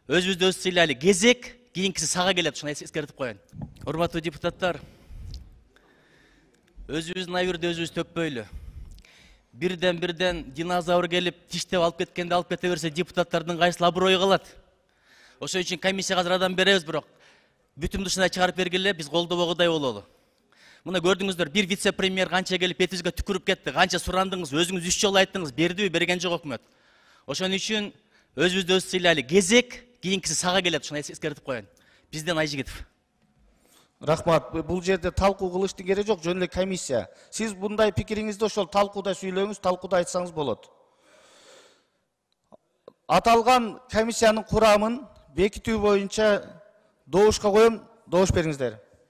Өзүбүздү өз сыйлайлы. Кезек кийинкиси сага келет, ушуну эскертип коеюн. Урматтуу депутаттар, өзүбүздүн айырды өзүбүз төкпөйлү. Бирден динозавр келип тиштеп алып кеткенде алып кете берсе, депутаттардын кайсыл аброю калат. Ошон үчүн комиссияга азыр адам беребиз, бирок бүтүм дышына чыгарып бергиле, биз колдобогудай бололу. Мына көрдүңүздөр, бир вице-премьер канча келип бетибизге түкүрүп кетти, канча сурандыңыз, өзүңүз 3 жолу айттыңыз, бердиби, берген жок өкмөт. Ошон үчүн өзүбүздү өз сыйлайлы. Кезек кийинкиси сага келет, ушуну эскертип коеюн. Бизден Айжигитов. Рахмат. Бул жерде талкуу кылыштын кереги жок, жөн эле комиссия. Сиз мындай пикириңизди ошол талкууда сүйлөңүз, талкууда айтсаңыз болот. Аталган комиссиянын курамын бекитүү боюнча добушка коем, добуш бериңиздер.